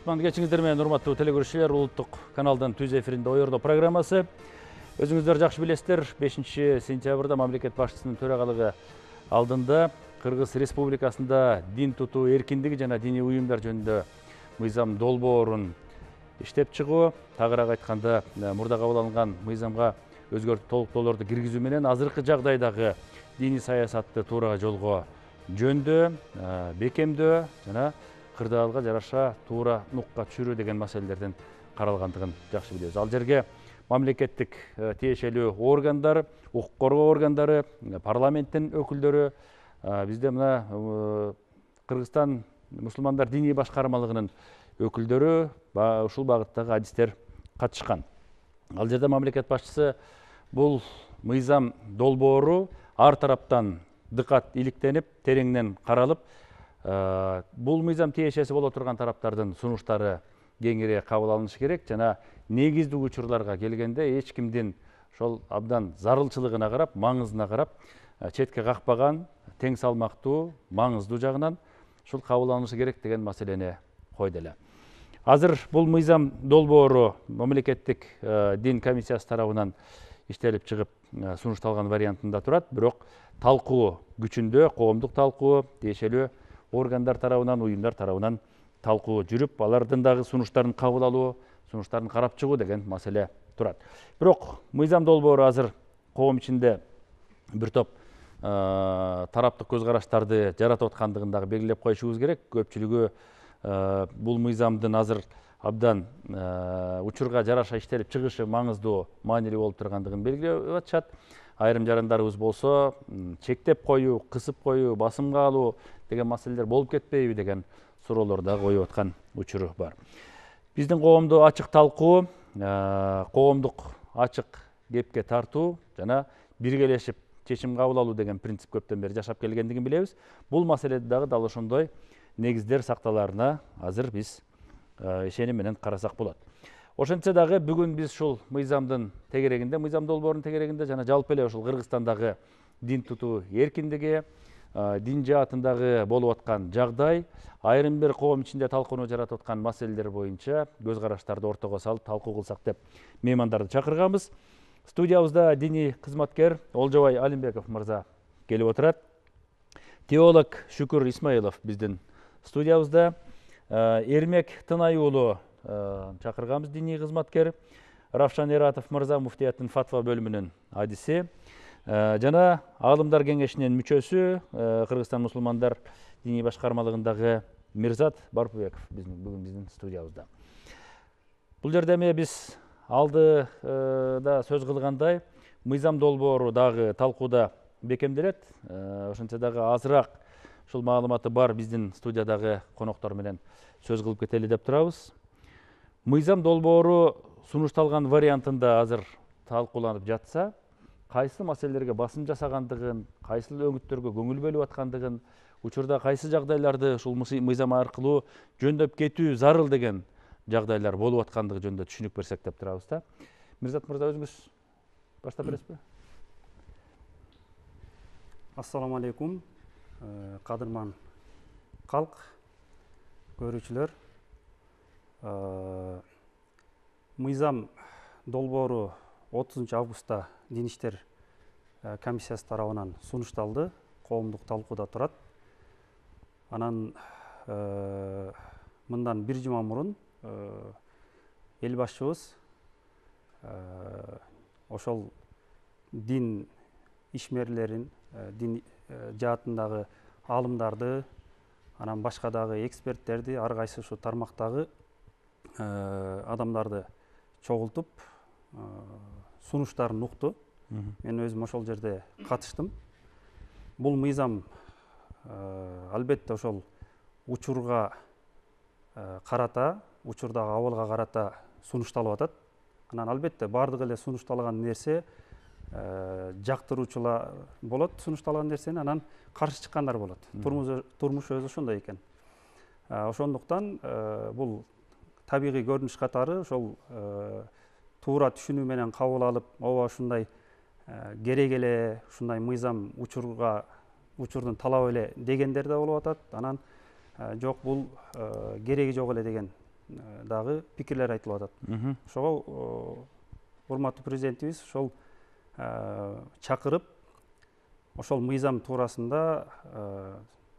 Кутман кечиңиздер менен урматтуу телекөрүүчүлөр, улуттук каналдын түз эфиринде Ойордо программасы. Өзүңүздөр жакшы билесиздер, 5-сентябрда мамлекет башчысынын төрагалыгы алдында Кыргыз Республикасында дин тутуу эркиндиги жана диний уюмдар жөнүндө мыйзам долбоорун иштеп чыгуу, тагыраак айтканда мурда кабыл алынган мыйзамга өзгөртүү толуктоолорду киргизүү менен азыркы жагдайдагы диний саясатты туура жолго жөндөө, бекемдөө жана кырдаалга жараша туура нукка түшүрүү деген маселелердин каралгандыгын жакшы билебиз. Ал жерге мамлекеттик тиешелүү органдар, укук коргоо органдары, парламенттин өкүлдөрү, бизде мына Кыргызстан мусулмандар диний башкармалыгынын өкүлдөрү ушул багыттагы адистер катышкан. Ал жерде мамлекет башчысы бул мыйзам долбоору ар тараптан дыкат иликтенип, тереңинен каралып, бул мыйзам тиешеси боло турган тараптардын сунуштары кеңири кабыл алынышы керек жана негиздүү учурларга келгенде эч кимдин ошол абдан зарылчылыгына карап, маңызына карап, четке какпаган, тең салмактуу, маңыздуу жагынан ушул кабыл алынышы керек деген маселени койду эле. Азыр бул мыйзам долбоору мамлекеттик дин комиссиясы тарабынан иштелип чыгып сунушталган вариантында турат, бирок талкуу күчүндө, коомдук талкуу, тиешелүү органдар тарабынан, уюмдар тарабынан талкуу жүрүп, алардын дагы сунуштарын кабыл алуу, сунуштарын карап чыгуу деген маселе турат. Бирок мыйзам долбоору азыр коом ичинде бир топ тараптык көз караштарды жаратып аткандыгын дагы белгилеп коюшубуз керек. Көпчүлүгү бул мыйзамдын азыр абдан учурга жараша иштелип чыгышы маңыздуу, маанилүү болуп тургандыгын белгилеп атышат. Айрым жарандарыбыз болсо чектеп коюу, кысып коюу, басымга алуу деген маселелер болуп кетпейби деген суроолор дагы коюп аткан учуру бар. Биздин коомду ачык талкуу, коомдук ачык кепке тартуу жана биргелешип чечим кабыл алуу деген принцип көптөн бери жашап келгендигин билебиз. Бул маселеде дагы дал ошондой негиздер сакталаарына азыр биз ишеним менен карасак болот. Ошентсе дагы бүгүн биз ушул мыйзамдын тегерегинде, мыйзам долбоорунун тегерегинде жана жалпы эле ушул Кыргызстандагы дин тутуу эркиндиги, дин жаатындагы болуп аткан жагдай, айрым бир коом ичинде талкууну жаратып аткан маселелер боюнча көз караштарды ортого салып талкуу кылсак деп меймандарды чакырганбыз. Студиябызда диний кызматкер Олжобай Алимбеков мырза келип отурат. Теолог Шүкүр Исмаилов биздин студиябызда, Эрмек Тынай уулу чакырганбыз, диний кызматкер. Равшан Эратов мырза муфтияттын фатва бөлүмүнүн адиси жана Аалымдар кеңешинин мүчөсү, Кыргызстан мусулмандар диний башкармалыгындагы Мирзат Барпыбеков бүгүн биздин студиябызда. Бул жерде эми биз алдыда сөз кылгандай, мыйзам долбоору дагы талкууда бекемделет. Ошентсе дагы азыраак ушул маалыматы бар биздин студиядагы коноктор менен сөз кылып кетели деп турабыз. Мыйзам долбоору сунушталган вариантында азыр талкууланып жатса, кайсы маселелерге басым жасагандыгын, кайсы өңүттөргө көңүл бөлүп аткандыгын, учурда кайсы жагдайларды ушул мыйзам аркылуу жөндөп кетүү зарыл деген жагдайлар болуп аткандыгы жөнүндө түшүнүк берсек деп турабыз да. Мирзат мырза, өзүңүз баштап бересизби? Ассаламу алейкум, кадырман калк, көрүүчүлөр. Мыйзам долбоору 30 августта Дин иштер комиссиясы тарабынан сунушталды, коомдук талкууда турат. Анан мындан бир жума мурун эл башчыбыз ошол дин ишмерлерин, дин жаатындагы аалымдарды, анан башка дагы эксперттерди, ар кайсы ушу тармактагы адамдарды чогултуп сунуштарын укту. Мен өзүм ошол жерде катыштым. Бул мыйзам албетте ошол учурга карата, учурдагы абалга карата сунушталып атат. Анан албетте бардык эле сунушталган нерсе жактыруучулар болот, сунушталган нерсени, анан каршы чыккандар болот. Турмуш өзү ошондой экен. Ошондуктан бул табигый көрүнүш катары ошол туура түшүнүү менен кабыл алып, ооба ушундай керек эле, ушундай мыйзам учурдун талабы эле дегендер да болуп атат. Анан жок, бул кереги жок эле деген дагы пикирлер айтылып атат. Ошого урматтуу президентибиз ошол чакырып, ошол мыйзам туурасында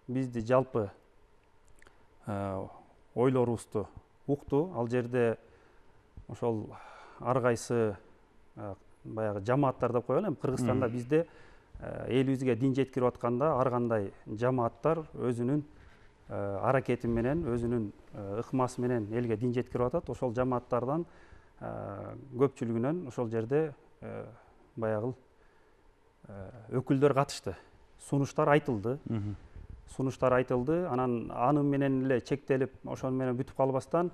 бизди жалпы ойлорубузду укту. Ал жерде ошол ар кайсы баягы жамааттар деп коелу, эми Кыргызстанда бизде элибизге дин жеткирип атканда ар кандай жамааттар өзүнүн аракети менен, өзүнүн ыкмасы менен элге дин жеткирип атат. Ошол жамааттардан көпчүлүгүнөн ошол жерде баягы өкүлдөр катышты. Сунуштар айтылды. Анан аны менен эле чектелип, ошону менен бүтүп калбастан,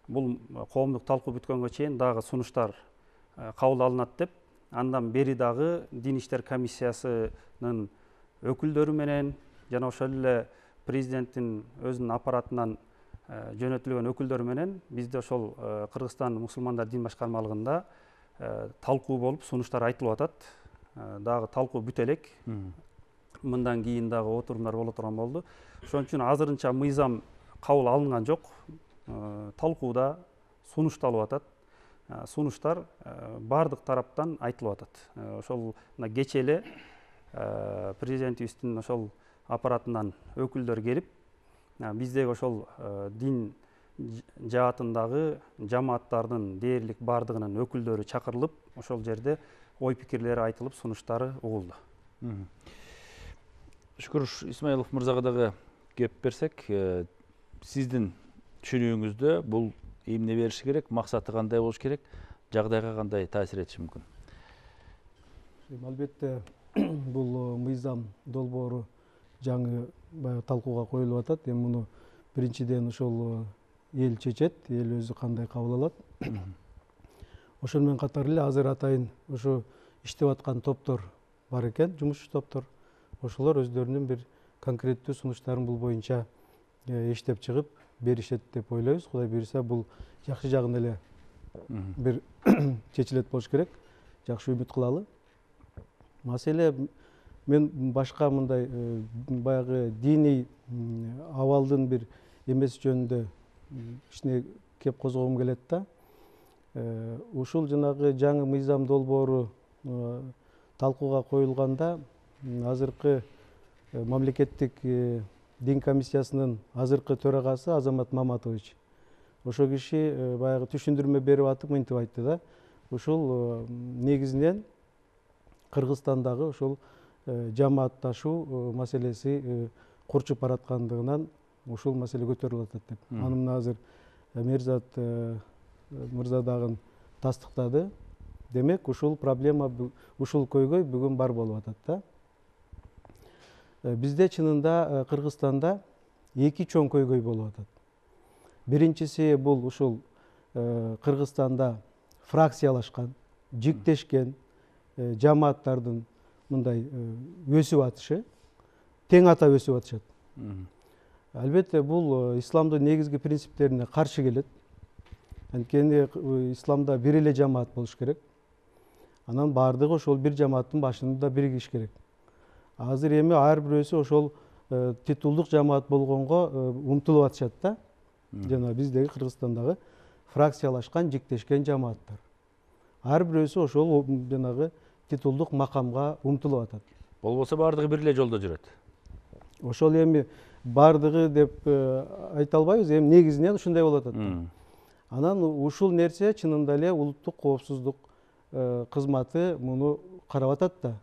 бул коомдук талкуу бүткөнгө чейин дагы сунуштар кабыл алынат деп, андан бери дагы Дин иштер комиссиясынын өкүлдөрү менен жана ошол эле президенттин өзүнүн аппаратынан жөнөтүлгөн өкүлдөрү менен бизде ошол Кыргызстан мусулмандар дин башкармалыгында талкуу болуп, сунуштар айтылып атат. Дагы талкуу бүтө элек. Мындан кийин дагы отурумдар боло турган болду. Ошон үчүн азырынча мыйзам кабыл алынган жок. Талкууда сунушталып атат. Сунуштар бардык тараптан айтылып атат. Ошол кечээ эле президентибиздин ошол аппаратынан өкүлдөр келип, биздеги ошол дин жаатындагы жамааттардын дээрлик бардыгынын өкүлдөрү чакырылып, ошол жерде ой пикирлери айтылып, сунуштары угулду. Шүкүр Исмаилов мырзага дагы кеп берсек, сиздин түшүнүүңүздө бул эмне бериши керек, максаты кандай болуш керек, жагдайга кандай таасир этиши мүмкүн? Албетте бул мыйзам долбоору жаңы талкууга коюлуп атат. Эми муну биринчиден ошол эл чечет, эл өзү кандай кабыл алат. Ошол менен катар эле азыр атайын ошо иштеп аткан топтор бар экен, жумушчу топтор. Ошолор өздөрүнүн бир конкреттүү сунуштарын бул боюнча иштеп чыгып беришет деп ойлойбуз. Кудай буйруса, бул жакшы жагын эле бир чечилет болуш керек. Жакшы үмүт кылалы. Маселе мен башка мындай баягы диний абалдын бир эмеси жөнүндө кичине кеп козгогум келет да. Ушул жанагы жаңы мыйзам долбоору талкууга коюлганда, азыркы мамлекеттик дин комиссиясынын азыркы төрагасы Азамат Маматович ошол киши баягы түшүндүрмө берип атып мынтип айтты да. Ушул негизинен Кыргызстандагы ошол жамаатташуу маселеси курчуп бараткандыгынан ушул маселе көтөрүлүп атат деп. Аны мына азыр Мерзат мырза дагы тастыктады. Демек, ушул проблема, ушул көйгөй бүгүн бар болуп атат да. Бизде чынында Кыргызстанда эки чоң көйгөй болуп атат. Биринчиси бул ушул Кыргызстанда фракциялашкан, жиктешкен жамааттардын мындай өсүп атышы, тең ата өсүп атышат. Албетте бул исламдын негизги принциптерине каршы келет. Анткени исламда бир эле жамаат болуш керек. Анан бардыгы ошол бир жамааттын башында биригиш керек. Азыр эми ар бирөөсү ошол титулдук жамаат болгонго умтулуп атышат да. Жана биздеги Кыргызстандагы фракциялашкан, жиктешкен жамааттар. Ар бирөөсү ошол жанагы титулдук макамга умтулуп атат. Болбосо бардыгы бир эле жолдо жүрөт. Ошол эми бардыгы деп айта албайбыз, эми негизинен ушундай болуп атат. Анан ушул нерсе чынында эле улуттук коопсуздук кызматы муну карап атат да.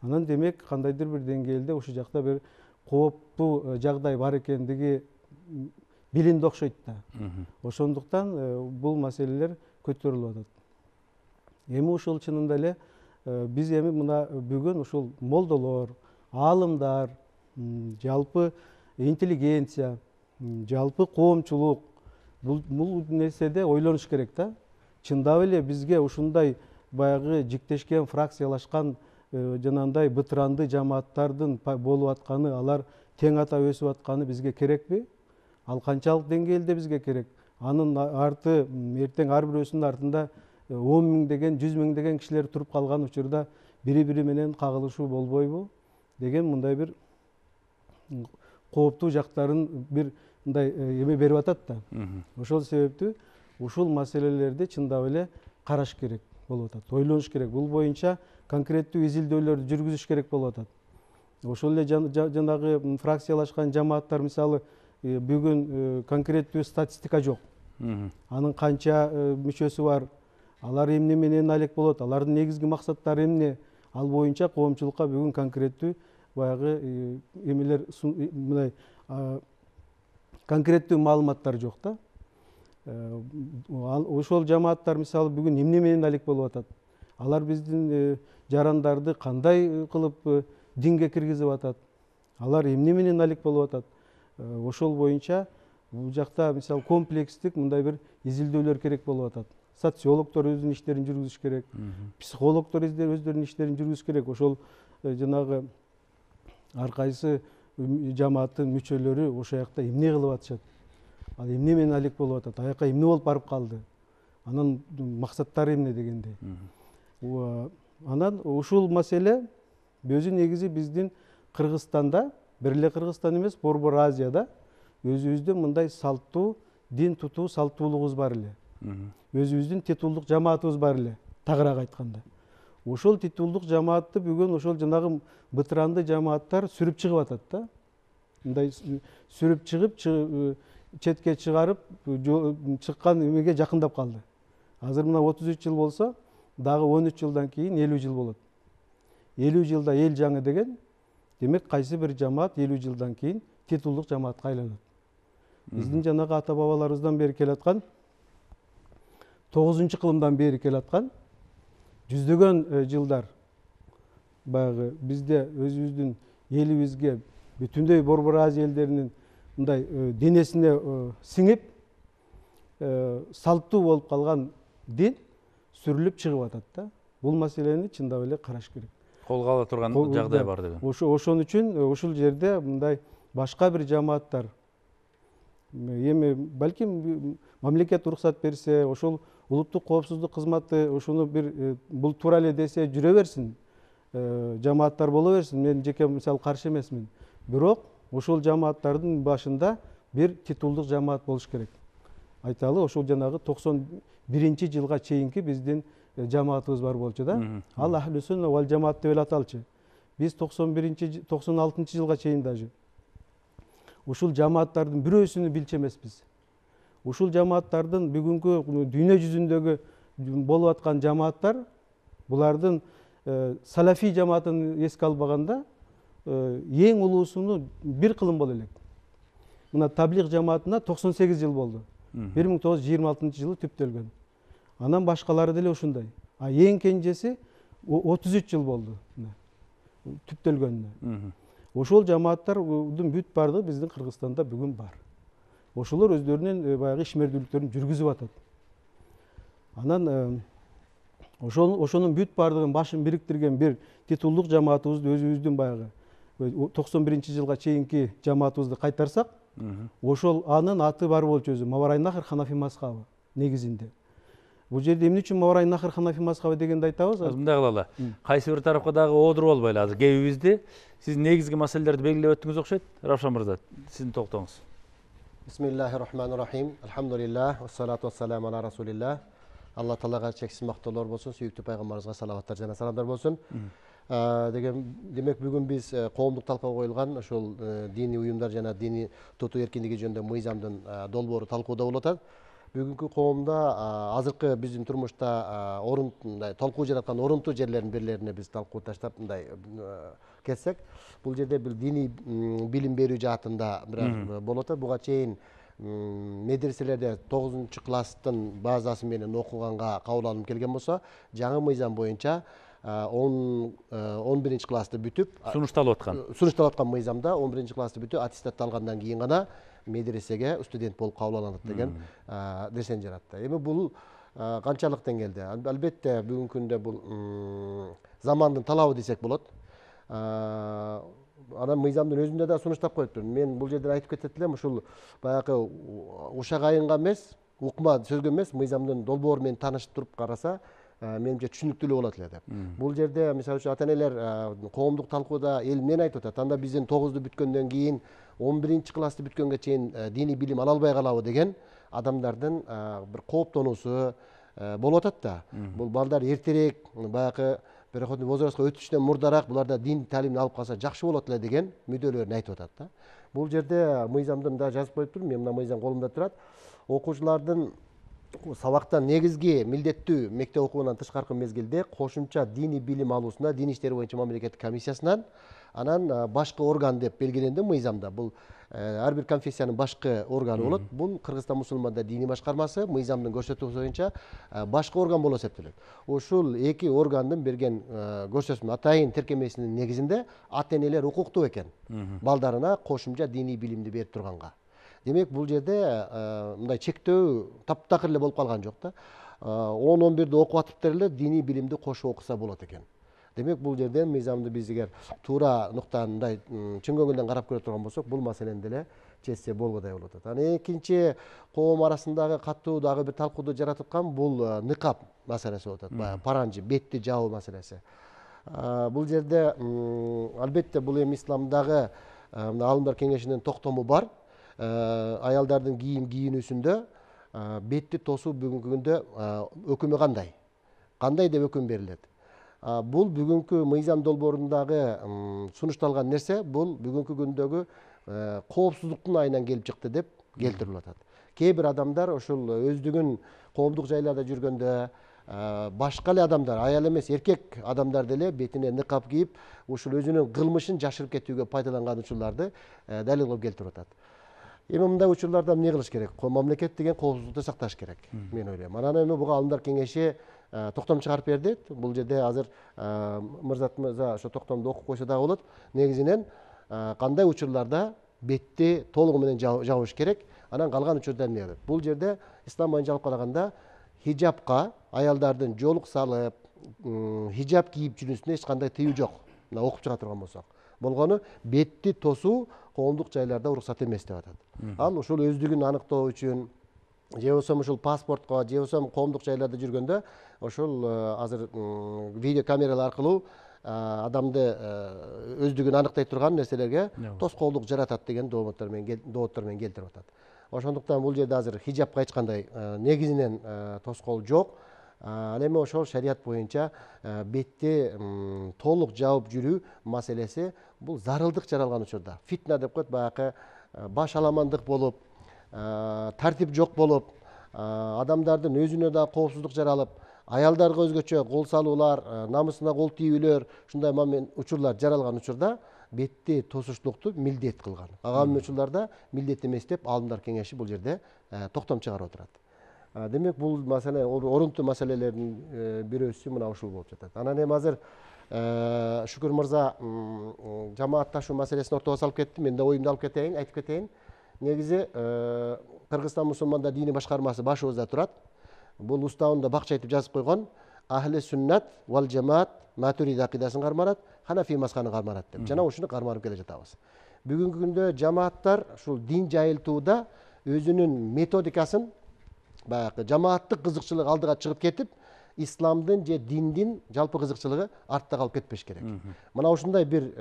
Анан демек кандайдыр бир деңгээлде ушул жакта бир кооптуу жагдай бар экендиги билинди окшойт да. Ошондуктан бул маселелер көтөрүлүп атат. Эми ушул чынында эле биз эми мына бүгүн ушул молдолор, аалымдар, жалпы интеллигенция, жалпы коомчулук бул нерседе ойлонуш керек да. Чындап эле бизге ушундай баягы жиктешкен, фракциялашкан жанагындай бытыранды жамааттардын болуп атканы, алар тең ата өсүп атканы бизге керекпи? Ал канчалык деңгээлде бизге керек? Анын арты эртең ар бирөөсүнүн артында 10 миңдеген, 100 миңдеген кишилер туруп калган учурда бири-бири менен кагылышуу болбойбу деген мындай бир кооптуу жактарын бир мындай эме берип атат да. Ошол себептүү ушул маселелерди чындап эле караш керек болуп атат, ойлонуш керек. Бул боюнча конкреттүү изилдөөлөрдү жүргүзүш керек болуп атат. Ошол эле жанагы фракциялашкан жамааттар мисалы бүгүн конкреттүү статистика жок. Анын канча мүчөсү бар, алар эмне менен алек болот, алардын негизги максаттары эмне, ал боюнча коомчулукка бүгүн конкреттүү баягы эмелер мындай конкреттүү маалыматтар жок да. Ошол жамааттар мисалы бүгүн эмне менен алек болуп атат, алар биздин жарандарды кандай кылып динге киргизип атат, алар эмне менен алек болуп атат. Ошол боюнча бул жакта мисалы комплекстик мындай бир изилдөөлөр керек болуп атат. Социологдор өзүнүн иштерин жүргүзүш керек, психологдор өздөрүнүн иштерин жүргүзүш керек. Ошол жанагы ар кайсы жамааттын мүчөлөрү ошол жакта эмне кылып атышат, ал эмне менен алек болуп атат, аяка эмне болуп барып калды, анын максаттары эмне дегендей. Анан ушул маселе өзү негизи биздин Кыргызстанда, бир эле Кыргызстан эмес, Борбор Азияда өзүбүздүн мындай салттуу дин тутуу салттуулугубуз бар эле. Өзүбүздүн титулдук жамаатыбыз бар эле, тагыраак айтканда. Ошол титулдук жамаатты бүгүн ошол жанагы бытыранды жамааттар сүрүп чыгып атат да. Мындай сүрүп чыгып, четке чыгарып, чыккан эмеге жакындап калды. Азыр мына 33 жыл болсо, дагы 13 жылдан кийин 50 жыл болот. 50 жылда эл жаңы деген, демек кайсы бир жамаат 50 жылдан кийин титулдук жамаатка айланат. Биздин жанагы ата бабаларыбыздан бери келаткан 9-кылымдан бери келаткан жүздөгөн жылдар баягы бизде өзүбүздүн элибизге бүтүндөй Борбор Азия элдеринин мындай денесине сиңип салттуу болуп калган дин сүрүлүп чыгып атат да. Бул маселени чындап эле караш керек. Колго ала турган жагдай бар деген. Ошон үчүн ушул жерде мындай башка бир жамааттар эми балким мамлекет уруксат берсе, ошол улуттук коопсуздук кызматы ошону бир бул туура эле десе жүрө берсин, жамааттар боло берсин. Мен жеке мисалы каршы эмесмин. Бирок ошол жамааттардын башында бир титулдук жамаат болуш керек. Айталы, ошол жанагы 91-жылга чейинки биздин жамаатыбыз бар болчу да. Ал Ахлу Сунна вал жамаат деп эле аталчу. Биз 96-жылга чейин даже ушул жамааттардын бирөөсүнү билчү эмеспиз. Ушул жамааттардын бүгүнкү дүйнө жүзүндөгү болуп аткан жамааттар, булардын салафи жамаатын эске албаганда эң улуусуну бир кылым боло элек. Мына таблиг жамаатына 98 жыл болду. 1926 жылы түптөлгөн. Анан башкалары деле ушундай. А эң кенжеси 33 жыл болду түптөлгөнүнө. Ошол жамааттардын бүт бардыгы биздин Кыргызстанда бүгүн бар. Ошолор өздөрүнүн баягы ишмердүүлүктөрүн жүргүзүп атат. Анан ошонун бүт бардыгын башын бириктирген бир титулдук жамаатыбызды өзүбүздүн баягы 91-жылга чейинки жамаатыбызды кайтарсак, ошол анын аты бар болчу өзү Маварайнахр Ханафи мазхабы негизинде. Бул жерде эмне үчүн Маварайнахр Ханафи мазхабы дегенди айтабыз? Мындай кылалы. Кайсы бир тарапка дагы оодуруп албайлы азыр кебибизди. Сиз негизги маселелерди белгилеп өттүңүз окшойт. Равшан мырза, сиздин токтоңуз. Бисмиллахир-рахманир-рахим. Алхамдулиллах, вассалату вассаламу ала расулиллах. Алла таалага чексиз мактоолор болсун, сүйүктүү пайгамбарыбызга салаваттар жана саламдар болсун. Демек бүгүн биз коомдук талкууга коюлган ошол диний уюмдар жана диний тутуу эркиндиги жөнүндө мыйзамдын долбоору талкууда болуп атат. Бүгүнкү коомдо азыркы биздин турмушта талкуу жараткан орунтуу жерлердин бирлерине биз талкуу таштап мындай кетсек, бул жерде бир диний билим берүү жаатында бир болуп атат. Буга чейин медреселерде 9-класстын базасы менен окуганга кабыл алынып келген болсо, жаңы мыйзам боюнча 11-классты бүтүп, сунушталып аткан мыйзамда 11-классты бүтүп, аттестат алгандан кийин гана медресеге студент болуп кабыл алынат деген нерсени жаратты. Эми бул канчалык деңгээлде? Албетте бүгүнкү күндө бул замандын талабы десек болот. Анан мыйзамдын өзүндө да сунуштап коюптур. Мен бул жерде айтып кетет элем, ушул баягы ушак айынга эмес, укма сөзгө эмес, мыйзамдын долбоору менен таанышып туруп караса, менимче түшүнүктүүлүү болот эле деп. Бул жерде мисалы үчүн ата энелер коомдук талкууда эл эмнени айтып атат? Анда биздин 9-ду бүткөндөн кийин 11-классты бүткөнгө чейин диний билим ала албай калабы деген адамдардын бир кооптонуусу болуп атат да. Бул балдар эртерээк баягы переходный возрастка өтүштөн мурдараак буларда дин таалимин алып калса жакшы болот эле деген мүдделөрүн айтып атат да. Бул жерде мыйзамдын да жазып коюп тур, мен мына мыйзам колумда турат. Окуучулардын сабактан негизги милдеттүү мектеп окуунан тышкаркы мезгилде кошумча диний билим алуусуна Дин иштери боюнча мамлекеттик комиссиясынан анан башкы орган деп белгиленди мыйзамда. Бул ар бир конфессиянын башкы органы болот. Бул Кыргызстан мусулмандар диний башкармасы мыйзамдын көрсөтүүсү боюнча башкы орган болуп эсептелет. Ушул эки органдын берген көрсөтмө атайын тиркемесинин негизинде ата энелер укуктуу экен балдарына кошумча диний билимди берип турганга. Демек бул жерде мындай чектөө таптакыр эле болуп калган жок да. 10-11-де окуп атыптыр эле диний билимди кошуп окуса болот экен. Демек бул жерден мыйзамды биз эгер туура нуктан мындай чын көңүлдөн карап көрө турган болсок, бул маселени деле чечсе болгодай болуп атат. Анан экинчи коом арасындагы катуу дагы бир талкууду жаратып аткан бул ныкап маселеси болуп атат. Баягы паранжы, бетти жабуу маселеси. Бул жерде албетте бул эми исламдагы Аалымдар кеңешинин токтому бар. Аялдардын кийинүүсүндө бетти тосуу бүгүнкү күндө өкүмү кандай? Кандай деп өкүм берилет? Бул бүгүнкү мыйзам долбоорундагы сунушталган нерсе, бул бүгүнкү күндөгү коопсуздуктун айынан келип чыкты деп келтирип атат. Кээ бир адамдар ошол өздүгүн коомдук жайларда жүргөндө башка эле адамдар, аял эмес эркек адамдар деле бетине ныкап кийип, ушул өзүнүн кылмышын жашырып кетүүгө пайдаланган учурларды далилдеп келтирип атат. Эми мындай учурларда эмне кылыш керек? Мамлекет деген коопсуздукту сакташ керек, мен ойлойм. Анан эми буга Аалымдар кеңеши токтом чыгарып берди. Бул жерде азыр Мырзат мырза ошо токтомду окуп койсо дагы болот. Негизинен кандай учурларда бетти толугу менен жабыш керек, анан калган учурда эмне болот? Бул жерде ислам боюнча алып караганда хижапка аялдардын жолук салып, хижап кийип жүрүүсүнө эч кандай тыюу жок. Мына окуп чыга турган болсок. Болгону бетти тосуу коомдук жайларда уруксат эмес деп атат. Ал ушул өздүгүн аныктоо үчүн, же болбосо ушул паспортко, же болбосо коомдук жайларда жүргөндө ошол азыр видео камералар аркылуу адамды өздүгүн аныктай турган нерселерге тоскоолдук жаратат деген доводдор менен келтирип атат. Ошондуктан бул жерде азыр хижапка эч кандай негизинен тоскоол жок. Ал эми ошол шарият боюнча бетти толук жаап жүрүү маселеси бул зарылдык жаралган учурда. Фитна деп коет, баягы баш аламандык болуп, тартип жок болуп, адамдардын өзүнө да коопсуздук жаралып, аялдарга өзгөчө кол салуулар, намысына кол тийүүлөр, ушундай учурлар жаралган учурда бетти тосуштукту милдет кылган. Ага учурларда милдет эмес деп Аалымдар кеңеши бул жерде токтом чыгарып отурат. Демек бул маселе орунтуу маселелердин бирөөсү мына ушул болуп жатат. Анан эми азыр Шүкүр мырза жамаатташуу маселесин ортого салып кетти. Мен да оюмду айтып кетейин. Негизи Кыргызстан мусулмандар диний башкармасы башыбызда турат. Бул уставында бакча айтып жазып койгон. Ахли сүннат вал жамаат матуриди акидасын карманат, ханафи мазхабын карманат деп. Жана ушуну карманып келе жатабыз. Бүгүнкү күндө жамааттар ушул дин жайылтууда өзүнүн методикасын баягы жамааттык кызыкчылык алдыга чыгып кетип, исламдын же диндин жалпы кызыкчылыгы артта калып кетпеш керек. Мына ушундай бир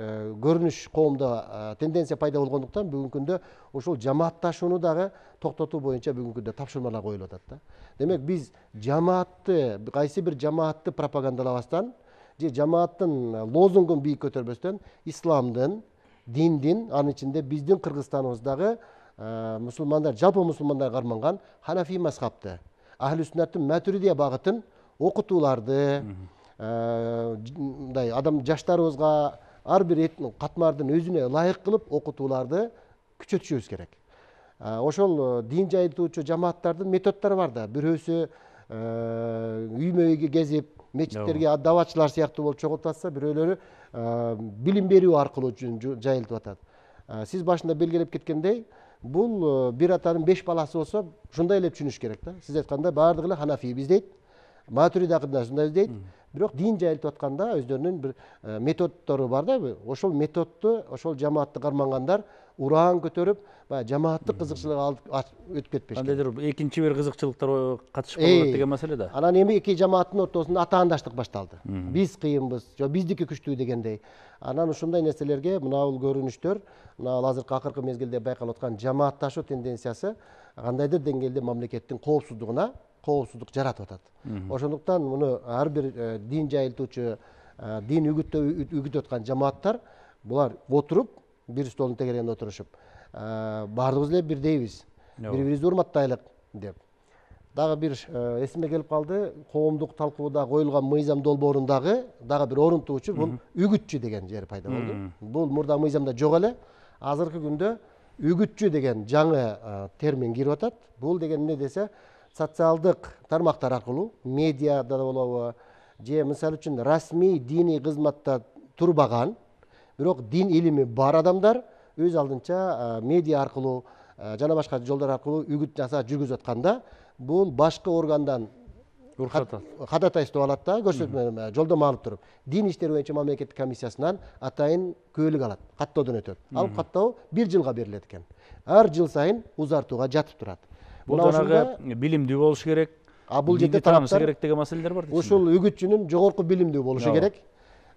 көрүнүш коомдо тенденция пайда болгондуктан бүгүнкү күндө ушул жамаатташууну дагы токтотуу боюнча бүгүнкү күндө тапшырмалар коюлуп атат да. Демек биз жамаатты, кайсы бир жамаатты пропагандалабастан же жамааттын лозунгун бийик көтөрбөстөн исламдын, диндин, анын ичинде биздин Кыргызстаныбыздагы мусулмандар, жалпы мусулмандар карманган ханафи мазхабты, ахли сүннаттын матуридия багытын окутууларды, мындай адам жаштарыбызга ар бир катмардын өзүнө ылайык кылып окутууларды күчөтүшүбүз керек. Ошол дин жайылтуучу жамааттардын методдору бар да. Бирөөсү үймө үйгө кезип, мечиттерге даватчылар сыяктуу болуп чогултуп атса, бирөөлөрү билим берүү аркылуу жайылтып атат. Сиз башында белгилеп кеткендей, бул бир атанын 5 баласы болсо, ушундай эле түшүнүш керек да. Сиз айткандай баардыгы эле ханафи дейт, матуриди акидасында дейт. Бирок дин жайылтып атканда өздөрүнүн бир методдору бар да. Ошол методду, ошол жамаатты кармангандар ураан көтөрүп, баягы жамааттык кызыкчылык өтүп кетпеш. Кандайдыр экинчи бир кызыкчылыктар катышып калат деген маселе да. Анан эми эки жамааттын ортосунда атаандаштык башталды. Биз кыйынбыз, жок биздики күчтүү дегендей. Анан ушундай нерселерге мына бул көрүнүштөр, мына азыркы акыркы мезгилде байкалып аткан жамаатташуу тенденциясы кандайдыр деңгээлде мамлекеттин коопсуздук жаратып атат. Ошондуктан муну ар бир дин жайылтуучу, дин үгүтүп аткан жамааттар булар отуруп, бир столдун тегерегинде отурушуп, баардыгыбыз эле бирдейбиз, бири-бирибизди урматтайлык деп. Дагы бир эсиме келип калды, коомдук талкууда коюлган мыйзам долбоорундагы дагы бир орунтуу учур, бул үгүтчү деген жери пайда болду. Бул мурда мыйзамда жок эле. Азыркы күндө үгүтчү деген жаңы термин кирип атат. Бул деген эмне десе, социалдык тармактар аркылуу, медиада да болобу, же мисалы үчүн расмий диний кызматта турбаган, бирок дин илими бар адамдар өз алдынча медиа аркылуу жана башка жолдор аркылуу үгүт жасап жүргүзүп атканда, бул башкы органдан кадатайсып алат да, көрсөтмө жолдомо алып туруп, дин иштери боюнча мамлекеттик комиссиясынан атайын көөлүк алат, каттоодон өтөт. Ал каттоо 1 жылга берилет экен. Ар жыл сайын узартууга жатып турат. Бул жанагы билимдүү болуш керек, бул жерде таанышы керек деген маселелер бар. Ушул үгүтчүнүн жогорку билимдүү болушу керек.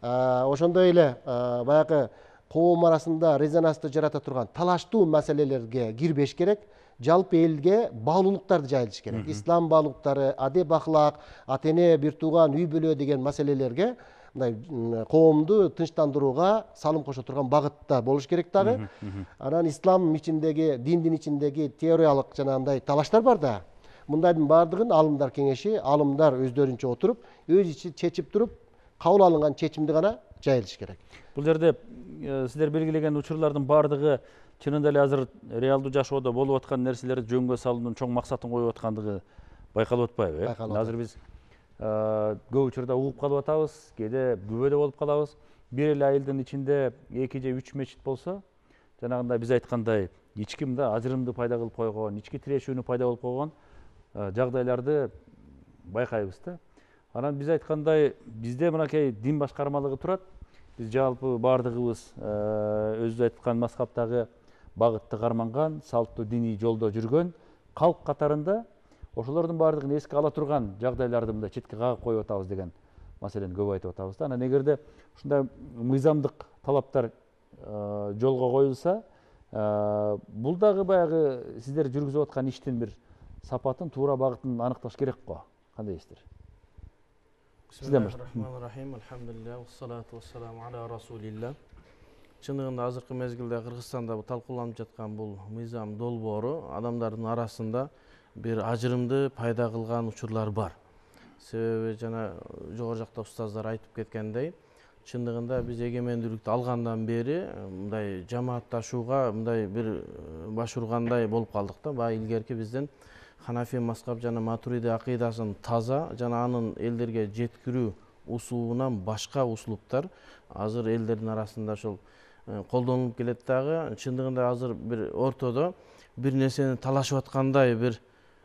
Ошондой эле баягы коом арасында резонансты жарата турган талаштуу маселелерге кирбеш керек. Жалпы элге баалуулуктарды жайылтыш керек. Ислам баалуулуктары, адеп ахлак, ата-эне, бир тууган, үй бүлө деген маселелерге мындай коомду тынчтандырууга салым кошо турган багытта болуш керек дагы. Анан ислам ичиндеги, диндин ичиндеги теориялык жанагындай талаштар бар да. Мындайдын баардыгын алымдар кеңеши, алымдар өздөрүнчө отуруп, өз ичи чечип туруп, кабыл алынган чечимди гана жайылтыш керек. Бул жерде сиздер белгилеген учурлардын баардыгы чынында эле азыр реалдуу жашоодо болуп аткан нерселерди жөнгө салуунун чоң максатын коюп аткандыгы байкалып атпайбы? Азыр биз көп учурда угуп калып атабыз, кээде күбөдө болуп калабыз. Бир эле айылдын ичинде 2 же 3 мечит болсо, жанагындай биз айткандай ички мындай ажырымды пайда кылып койгон, ички тирешүүнү пайда болуп койгон жагдайларды байкайбыз да. Анан биз айткандай, бизде мынакей дин башкармалыгы турат. Биз жалпы баардыгыбыз өзү айткан мазхабтагы багытты карманган, салттуу диний жолдо жүргөн калк катарында ошолордун баардыгын эске ала турган жагдайларды мындай четке кагып коюп атабыз деген маселени көп айтып атабыз да. Анан эгерде ушундай мыйзамдык талаптар жолго коюлса, бул дагы баягы сиздер жүргүзүп аткан иштин бир сапатын, туура багытын аныкташ керек го. Кандай дейсиздер? Бисмиллахир-рахманир-рахим. Алхамдулилlah, вассалату вассаламу аля расулилlah. Чындыгында азыркы мезгилде Кыргызстанда талкууланып жаткан бул мыйзам долбоору адамдардын арасында бир ажырымды пайда кылган учурлар бар. Себеби жана жогору жакта устаздар айтып кеткендей, чындыгында биз эгемендүүлүктү алгандан бери мындай жамаатташууга мындай бир баш ургандай болуп калдык да. Баягы илгерки биздин Ханафи мазхаб жана Матуриди акыйдасын таза жана анын элдерге жеткирүү усулунан башка услуптар азыр элдердин арасында ошол колдонулуп келет дагы. Чындыгында азыр бир ортодо бир нерсени талашып аткандай бир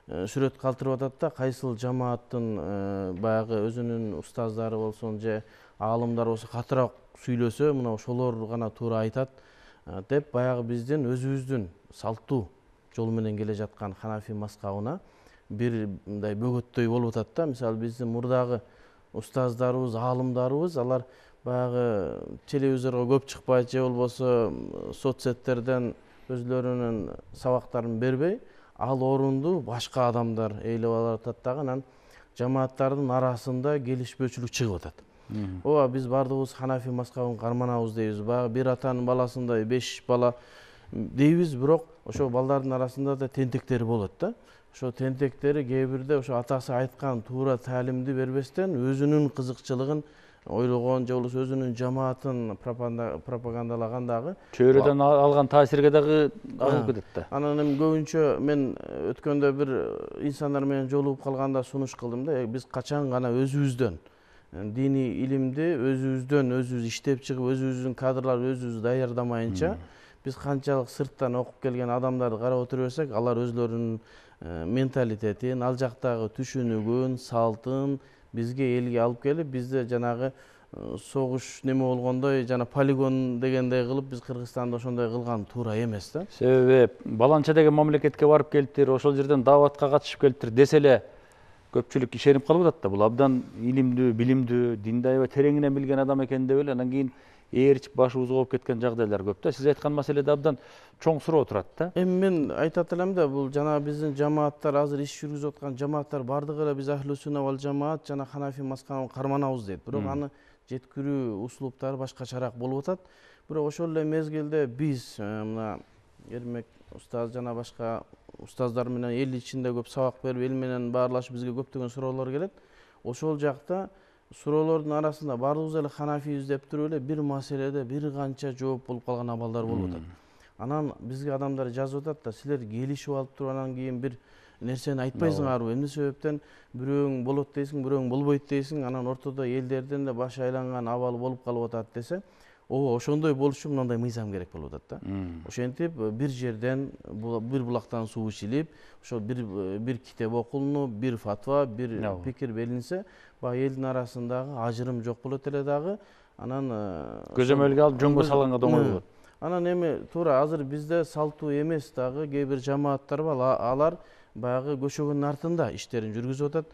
сүрөт калтырып атат да. Кайсыл жамааттын баягы өзүнүн устаздары болсун же аалымдар болсо катыраак сүйлөсө, мына ошолор гана туура айтат деп баягы биздин өзүбүздүн салттуу жол менен келе жаткан Ханафи мазхабына бир мындай бөгөттөй болуп атат да. Мисалы биздин мурдагы устаздарыбыз, аалымдарыбыз алар баягы телевизорго көп чыкпайт же болбосо соцсеттерден өзлөрүнүн сабактарын бербей, ал орунду башка адамдар ээлеп алып атат дагы. Анан жамааттардын арасында келишпөөчүлүк чыгып атат. Ооба биз баардыгыбыз Ханафи мазхабын карманабыз дейбиз. Баягы бир атанын баласындай 5 бала дейбиз, бирок ошо балдардын арасында да тентектери болот да. Ошо тентектери кээ бирде ошо атасы айткан туура таалимди бербестен өзүнүн кызыкчылыгын ойлогон же болбосо өзүнүн жамаатын пропагандалаган дагы чөйрөдөн алган таасирге дагы агып кетет да. Анан эми көбүнчө мен өткөндө бир инсандар менен жолугуп калганда сунуш кылдым да. Биз качан гана өзүбүздөн диний илимди өзүбүз иштеп чыгып, өзүбүздүн кадрларды өзүбүз даярдамайынча биз канчалык сырттан окуп келген адамдарды карап отура берсек, алар өзлөрүнүн менталитетин, ал жактагы түшүнүгүн, салтын бизге элге алып келип, бизде жанагы согуш неме болгондой жана полигон дегендей кылып биз Кыргызстанда ошондой кылган туура эмес да. Себеби Баланча деген мамлекетке барып келиптир, ошол жерден дааватка катышып келиптир десе эле көпчүлүк ишенип калып атат да. Бул абдан илимдүү, билимдүү, динди аябай тереңинен билген адам экен деп эле анан кийин ээрчип башыбыз ооп кеткен жагдайлар көп да. Сиз айткан маселеде абдан чоң суроо турат да. Эми мен айтат элем да, бул жана биздин жамааттар азыр иш жүргүзүп аткан жамааттар бардыгы эле биз Ахлу Сунна вал Жамаат жана Ханафи мазхабын карманабыз дейт. Бирок аны жеткирүү услуптары башкачараак болуп атат. Бирок ошол эле мезгилде биз мына Эрмек устаз жана башка устаздар менен эл ичинде көп сабак берип, эл менен баарлашып бизге көптөгөн суроолор келет. Ошол жакта суроолордун арасында баардыгыбыз эле ханафийбиз деп туруп эле бир маселеде бир канча жооп болуп калган абалдар болуп атат. Анан бизге адамдар жазып атат да, силер келишип алып туруп анан кийин бир нерсени айтпайсыңарбы? Эмне себептен бирөөң болот дейсиң, бирөөң болбойт дейсиң, анан ортодо элдердин да башы айланган абалы болуп калып атат десе, ооба ошондой болуш үчүн мындай мыйзам керек болуп атат да. Ошентип бир жерден бир булактан суу ичилип, ошол бир китеп окулунуп, бир фатва, бир пикир белинсе, баягы элдин арасындагы ажырым жок болот эле дагы. Анан көзөмөлгө алып жөнгө салганга да оңой болот. Анан эми туура азыр бизде салтуу эмес дагы кээ бир жамааттар бар, алар баягы көчөгөнүн артында иштерин жүргүзүп атат.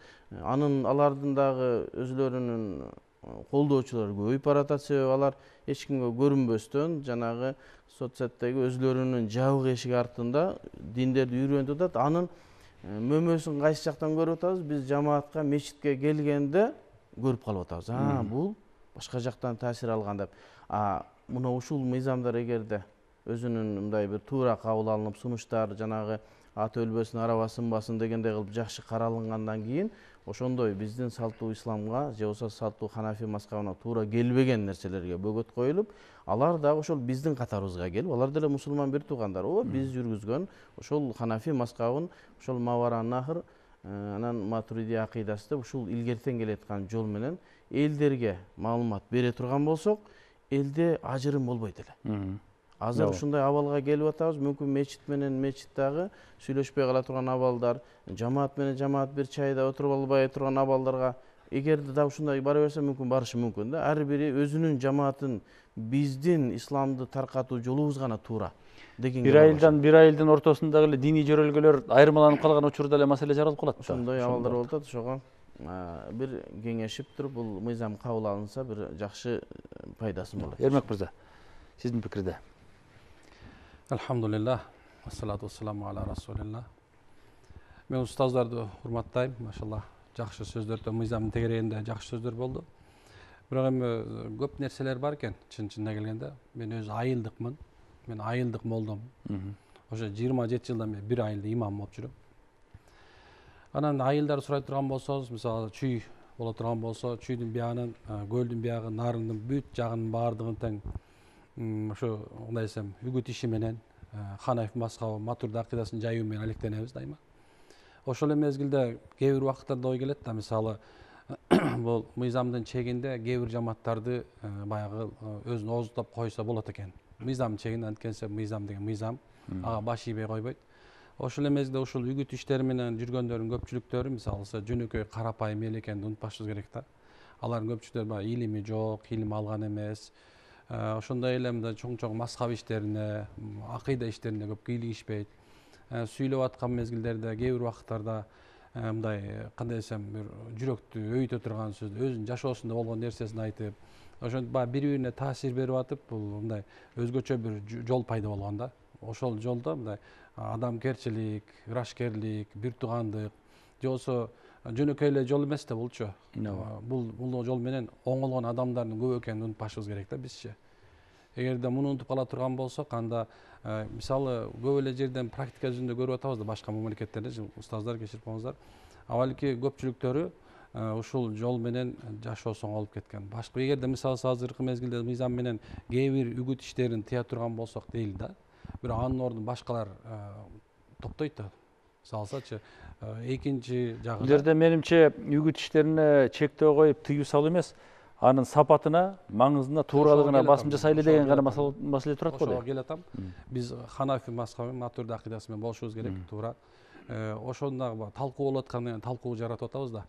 Алардын дагы өзлөрүнүн колдоочулары көбөйүп баратат, себеби алар эч кимге көрүнбөстөн жанагы соцсеттеги өзлөрүнүн жабык эшик артында диндерди үйрөнүп атат. Анын мөмөсүн кайсы жактан көрүп атабыз? Биз жамаатка, мечитке келгенде көрүп калып атабыз. Бул башка жактан таасир алган деп. Мына ушул мыйзамдар эгерде өзүнүн мындай бир туура кабыл алынып, сунуштар жанагы аты өлбөсүн, араба сынбасын дегендей кылып жакшы каралынгандан кийин ошондой биздин салтуу исламга же болбосо салтуу ханафи мазхабына туура келбеген нерселерге бөгөт коюлуп, алар дагы ошол биздин катарыбызга келип, алар деле мусулман бир туугандар. Биз жүргүзгөн ошол ханафи мазхабын, ошол Маваран Нахр, анан Матуриди акыйдасы деп ушул илгертен келаткан жол менен элдерге маалымат бере турган болсок, элде ажырым болбойт эле. Азыр ушундай абалга келип атабыз. Мүмкүн мечит менен мечит дагы сүйлөшпөй кала турган абалдар, жамаат менен жамаат бир чайда отуруп албай турган абалдарга эгерде да ушундай бара берсе мүмкүн барышы мүмкүн да. Ар бири өзүнүн жамаатын биздин исламды таркатуу жолубуз гана туура деген. Бир айылдын ортосундагы эле диний жөрөлгөлөр айырмаланып калган учурда эле маселе жаралып калат да. Ошондой абалдар болуп атат. Ошого бир кеңешип туруп бул мыйзам кабыл алынса бир жакшы пайдасы болот. Эрмек мырза, сиздин пикирде? Алхамдулиллах, ассалату вассаламу аля расулилlah. Мен устаздарды урматтайм, машалла. Жакшы сөздөрдө мыйзамдын тегерегинде жакшы сөздөр болду. Бирок эми көп нерселер бар экен, чын-чынына келгенде. Мен өзү айылдыкмын. Мен айылдык молдом. Ошо 27 жылдан бери бир айылда имам болуп жүрөм. Анан айылдар сурай турган болсоңуз, мисалы чүй боло турган болсо, чүйдүн биягынан көлдүн биягы, нарындын бүт жагынын баардыгын тең ошо кандай десем, үгүт иши менен Ханафи мазхабы, Матурди акыйдасын жайуу менен алектенебиз дайыма. Ошол эле мезгилде кээ бир убакыттарда ой келет да, мисалы бул мыйзамдын чегинде кээ бир жамааттарды баягы өзүн ооздоп койсо болот экен. Мыйзамдын чегинде, анткенсе мыйзам деген мыйзам, ага баш ийбей койбойт. Ошол эле мезгилде ушул үгүт иштери менен жүргөндөрдүн көпчүлүктөрү, мисалы жөнөкөй карапайым эл экенин унутпашыбыз керек да. Алардын көпчүлүктөрү баягы илими жок, илим алган эмес. Ошондой эле мындай чоң мазхаб иштерине, акыйда иштерине көп кийлигишпейт. Сүйлөп аткан мезгилдерде кээ бир убакыттарда мындай кандай десем, бир жүрөктү өйүтө турган сөз, өзүнүн жашоосунда болгон нерсесин айтып, ошентип баягы бири-бирине таасир берип атып, бул мындай өзгөчө бир жол пайда болгон да. Ошол жолдо мындай адамгерчилик, ырашкерлик, бир туугандык, же болбосо жөнөкөй эле жол эмес да булчу. Бул жол менен оңолгон адамдардын көп экенин унутпашыбыз керек да бизчи. Эгерде муну унутуп кала турган болсок, анда мисалы көп эле жерден практика жүзүндө көрүп атабыз да, башка мамлекеттерде, устаздар кечирип коңуздар. Абалки көпчүлүктөрү ушул жол менен жашоосу оңолуп кеткен. Башка эгерде мисалы азыркы мезгилде мыйзам менен кээ бир үгүт иштерин тыя турган болсок дейли да. Бирок анын ордун башкалар токтойт да. Салсачы экинчи жагы. Бул жерде менимче үгүт иштерине чектөө коюп тыюу салуу эмес, анын сапатына, маңызына, тууралыгына басым жасайлы деген гана маселе турат го. Ошого келатам. Биз Ханафи мазхабы, Матурди акыйдасы менен болушубуз керек, туура. Ошондагы талкуу болуп аткандан кийин талкуу жаратып атабыз да.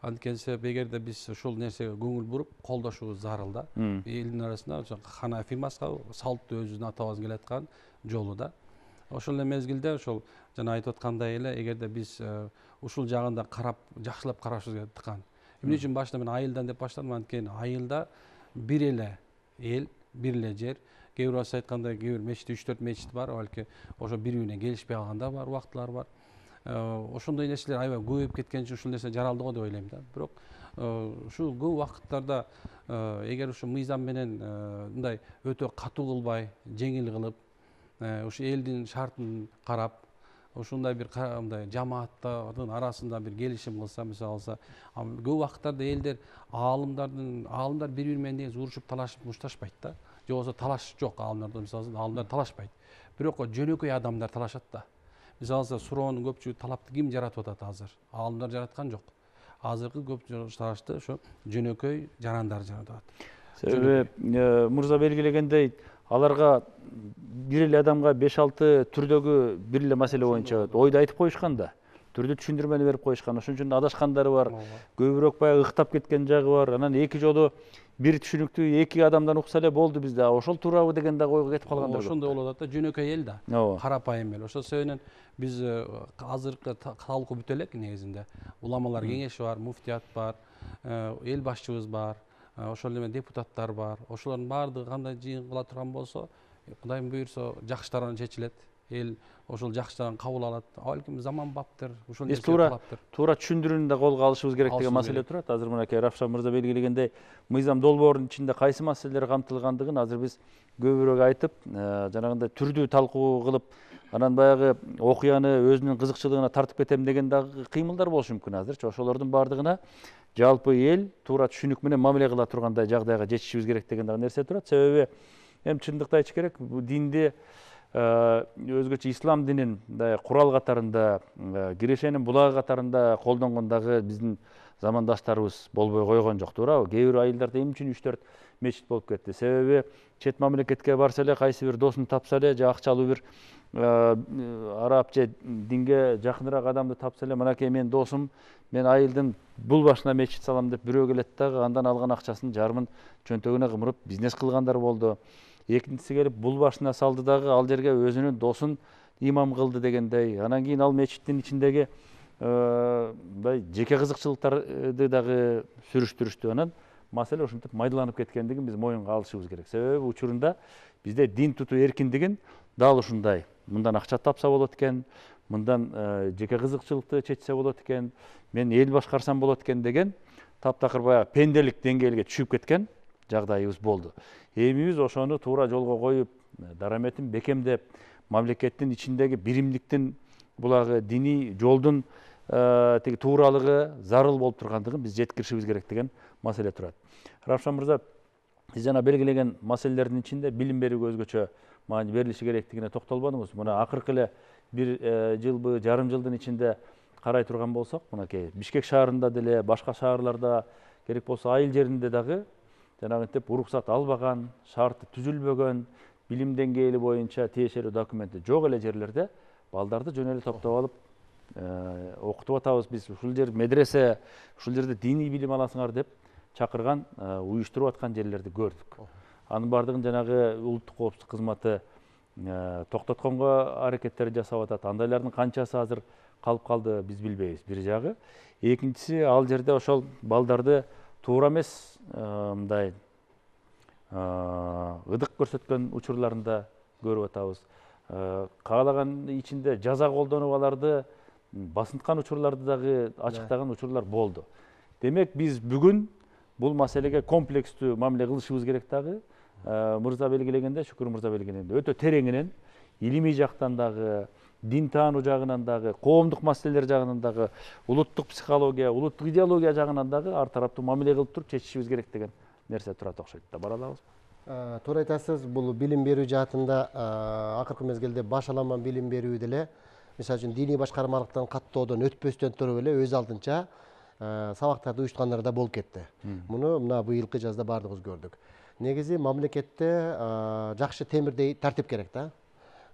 Анткени себеп эгерде биз ушул нерсеге көңүл буруп колдошубуз зарыл да. Элдин арасында Ханафи мазхабы салттуу өзүбүздүн атабыз келаткан жолу да. Ошол эле мезгилде ошол жана айтып аткандай эле эгерде биз ушул жагында карап жакшылап карашыбыз керек. Эмне үчүн башында мен айылдан деп баштадым? Анткени айылда бир эле эл, бир эле жер. Кээ бир айткандай, кээ бир мечит 3-4 мечит бар, балки ошо бири-бирине келишпей калганда бар, убактылар бар. Ошондой нерселер аябай көбөйүп кеткен үчүн ушул нерсе жаралды го деп ойлойм да. Бирок ушул көп убакыттарда эгер ушу мыйзам менен мындай өтө катуу кылбай, жеңил кылып, ушу элдин шартын карап, ушундай бир мындай жамааттардын арасында бир келишим кылса, мисалы алса, көп убакыттарда элдер аалымдар бири-бири менен негизи урушуп, талашып мушташпайт да. Же болбосо талаш жок аалымдарда, мисалы аалымдар талашпайт. Бирок жөнөкөй адамдар талашат да. Мисалы алса, суроонун көпчүлүгү талапты ким жаратып атат азыр? Аалымдар жараткан жок. Азыркы көп талашты ошо жөнөкөй жарандар жаратып атат. Себеби мырза белгилегендей, аларга бир эле адамга 5-6 түрдөгү бир эле маселе боюнча ойду айтып коюшкан да. Түрдүү түшүндүрмөнү берип коюшкан. Ошон үчүн адашкандары бар, көбүрөөк баягы ыктап кеткен жагы бар. Анан эки жолу бир түшүнүктүү эки адамдан укса эле болду бизде. Ошол туурабы деген да ойго кетип калгандар. Ошондой болуп атат да, жөнөкөй эл да. Карапайым эл. Ошол себептен биз азыркы талкуу бүтө элек негизинде. Уламалар кеңеши бар, муфтият бар, эл башчыбыз бар, ошол эле депутаттар бар. Ошолордун баардыгы кандай жыйын кыла турган болсо, Кудайым буйрса, жакшы тарабынан чечилет. Эл ошол жакшы тарабын кабыл алат. Балким заман баптыр, ушул нерсе кылаптыр. Туура түшүндүрүүнү да колго алышыбыз керек деген маселе турат. Азыр мынакей Равшан мырза белгилегендей, мыйзам долбоорунун ичинде кайсы маселелер камтылгандыгын азыр биз көбүрөөк айтып, жанагындай түрдүү талкуу кылып, анан баягы окуяны өзүнүн кызыкчылыгына тартып кетем деген дагы кыймылдар болушу мүмкүн азырчы. Ошолордун баардыгына жалпы эл туура түшүнүк менен мамиле кыла тургандай жагдайга жетишибиз керек деген дагы нерсе турат. Себеби эми чындыкты айтыш керек, бул динди өзгөчө ислам динин курал катарында, кирешенин булагы катарында колдонгон дагы биздин замандаштарыбыз болбой койгон жок, туурабы? Кээ бир айылдарда эмне үчүн 3-4 мечит болуп кетти? Себеби чет мамлекетке барса эле, кайсы бир досун тапса эле, же акчалуу бир араб же динге жакыныраак адамды тапса эле, мынакей менин досум, мен айылдын бул башына мечит салам деп бирөө келет дагы, андан алган акчасын жарымын чөнтөгүнө кымырып бизнес кылгандар болду. Экинчиси келип бул башына салды дагы, ал жерге өзүнүн досун имам кылды дегендей. Анан кийин ал мечиттин ичиндеги жеке кызыкчылыктарды дагы сүрүштүрүштү. Анан маселе ушинтип майдаланып кеткендигин биз моюнга алышыбыз керек. Себеби учурунда бизде дин тутуу эркиндигин дал ушундай. Мындан акча тапса болот экен, мындан жеке кызыкчылыкты чечсе болот экен, мен эл башкарсам болот экен деген таптакыр баягы пенделик деңгээлге түшүп кеткен жагдайыбыз болду. Эми биз ошону туура жолго коюп, дараметин бекемдеп, мамлекеттин ичиндеги биримдиктин булагы диний жолдун тиги тууралыгы зарыл болуп тургандыгын биз жеткиришибиз керек деген маселе турат. Равшан мырза, сиз жана белгилеген маселелердин ичинде билим берүүгө өзгөчө маани берилиши керектигине токтолбодуңуз. Мына акыркы эле бир жылбы, жарым жылдын ичинде карай турган болсок, мынакей Бишкек шаарында деле, башка шаарларда, керек болсо айыл жеринде дагы жанагынтип уруксат албаган, шарты түзүлбөгөн, билим деңгээли боюнча тиешелүү документи жок эле жерлерде балдарды жөн эле топтоп алып окутуп атабыз биз. Ушул жер медресе, ушул жерде диний билим аласыңар деп чакырган, уюштуруп аткан жерлерди көрдүк. Анын баардыгын жанагы улуттук коопсуздук кызматы токтотконго аракеттер жасап атат. Андайлардын канчасы азыр калып калды биз билбейбиз, бир жагы. Экинчиси, ал жерде ошол балдарды туура эмес мындай ыдык көрсөткөн учурларында көрүп атабыз. Каалаган ичинде жаза колдонуп аларды басынткан учурларды дагы ачыктаган учурлар болду. Демек биз бүгүн бул маселеге комплекстүү мамиле кылышыбыз керек дагы. Мырза белгилегенде, Шүкүр мырза белгилегенде өтө тереңинен илимий жактан дагы, дин таануу жагынан дагы, коомдук маселелер жагынан дагы, улуттук психология, улуттук идеология жагынан дагы ар тараптуу мамиле кылып туруп чечишибиз керек деген нерсе турат окшойт да. Бара алабызбы? Туура айтасыз, бул билим берүү жаатында акыркы мезгилде башаламан билим берүү деле, мисалы үчүн диний башкармалыктан каттоодон өтпөстөн туруп эле өз алдынча сабактарды уюштургандар да болуп кетти. Муну мына быйылкы жазда баардыгыбыз көрдүк. Негизи мамлекетте жакшы темирдей тартип керек да.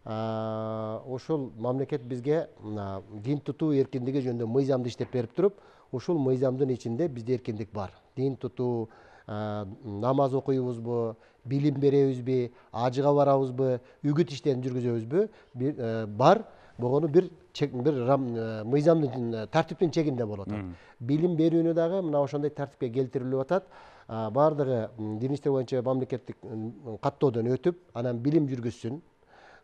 Ошол мамлекет бизге дин тутуу эркиндиги жөнүндө мыйзамды иштеп берип туруп, ушул мыйзамдын ичинде бизде эркиндик бар. Дин тутуу, намаз окуйбузбу, билим беребизби, ажыга барабызбы, үгүт иштерин жүргүзөбүзбү, бар. Богону бир мыйзамдын тартиптин чегинде болуп атат. Билим берүүнү дагы мына ошондой тартипке келтирилип атат. Бардыгы дин иштер боюнча мамлекеттик каттоодон өтүп, анан билим жүргүзсүн.